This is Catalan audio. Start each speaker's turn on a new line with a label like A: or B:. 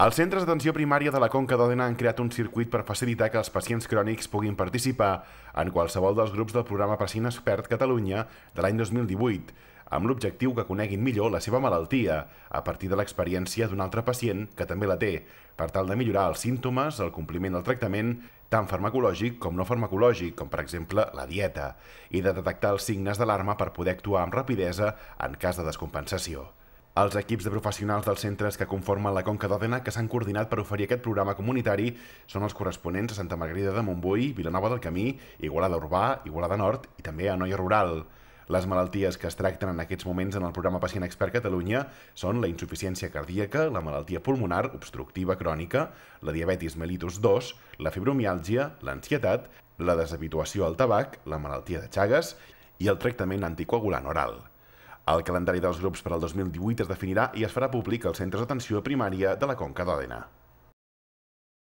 A: Els centres d'atenció primària de la Conca d'Òdena han creat un circuit per facilitar que els pacients crònics puguin participar en qualsevol dels grups del programa Pacient Expert Catalunya de l'any 2018, amb l'objectiu que coneguin millor la seva malaltia a partir de l'experiència d'un altre pacient que també la té, per tal de millorar els símptomes, el compliment del tractament, tant farmacològic com no farmacològic, com per exemple la dieta, i de detectar els signes d'alarma per poder actuar amb rapidesa en cas de descompensació. Els equips de professionals dels centres que conformen la Conca d'Òdena que s'han coordinat per oferir aquest programa comunitari són els corresponents a Santa Margarida de Montbui, Vilanova del Camí, Igualada Urbà, Igualada Nord i també a Anoia Rural. Les malalties que es tracten en aquests moments en el programa Pacient Expert Catalunya són la insuficiència cardíaca, la malaltia pulmonar obstructiva crònica, la diabetis mellitus 2, la fibromiàlgia, l'ansietat, la deshabituació al tabac, la malaltia de Chagas i el tractament anticoagulant oral. El calendari dels grups per al 2018 es definirà i es farà públic als centres d'atenció primària de la Conca d'Òdena.